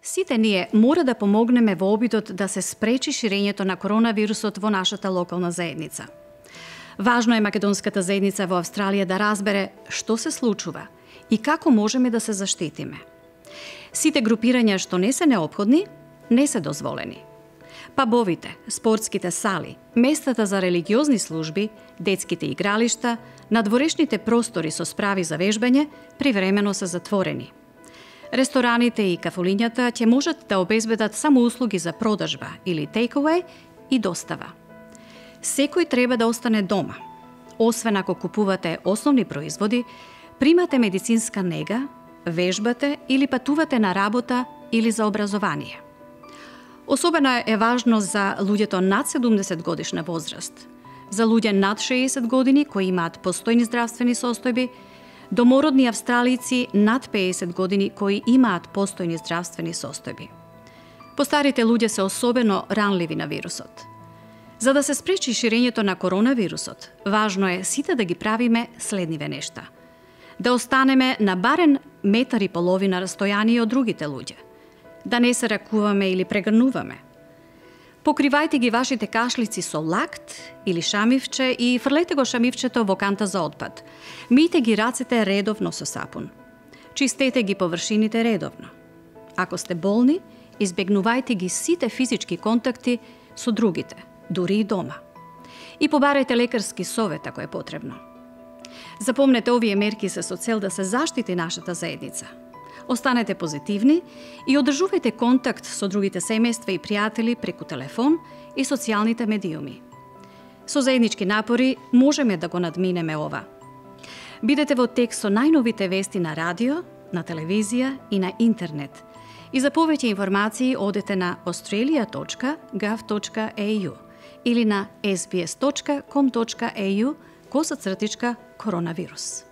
Сите ние мора да помогнеме во обидот да се спречи ширењето на коронавирусот во нашата локална заедница. Важно е македонската заедница во Австралија да разбере што се случува и како можеме да се заштитиме. Сите групирања што не се неопходни, не се дозволени. Пабовите, спортските сали, местата за религиозни служби, детските игралишта, надворешните простори со справи за вежбање привремено се затворени. Рестораните и кафулињата ќе можат да обезбедат само услуги за продажба или take-away и достава. Секој треба да остане дома. Освен ако купувате основни производи, примате медицинска нега, вежбате или патувате на работа или за образование. Особено е важно за луѓето над 70 годишна возраст, за луѓе над 60 години кои имаат постојни здравствени состојби, домородни австралици над 50 години кои имаат постојни здравствени состојби. Постарите луѓе се особено ранливи на вирусот. За да се спречи ширењето на коронавирусот, важно е сите да ги правиме следниве нешта. Да останеме на барем метар и половина растојание од другите луѓе. Да не се ракуваме или прегрнуваме. Покривајте ги вашите кашлици со лакт или шамивче и фрлете го шамивчето во канта за отпад. Мијте ги рацете редовно со сапун. Чистете ги површините редовно. Ако сте болни, избегнувајте ги сите физички контакти со другите, дури и дома. И побарајте лекарски совет ако е потребно. Запомнете, овие мерки се со цел да се заштити нашата заедница. Останете позитивни и одржувајте контакт со другите семејства и пријатели преку телефон и социјалните медиуми. Со заеднички напори можеме да го надминеме ова. Бидете во тек со најновите вести на радио, на телевизија и на интернет. И за повеќе информации одете на australia.gov.au или на sbs.com.au /коронавирус.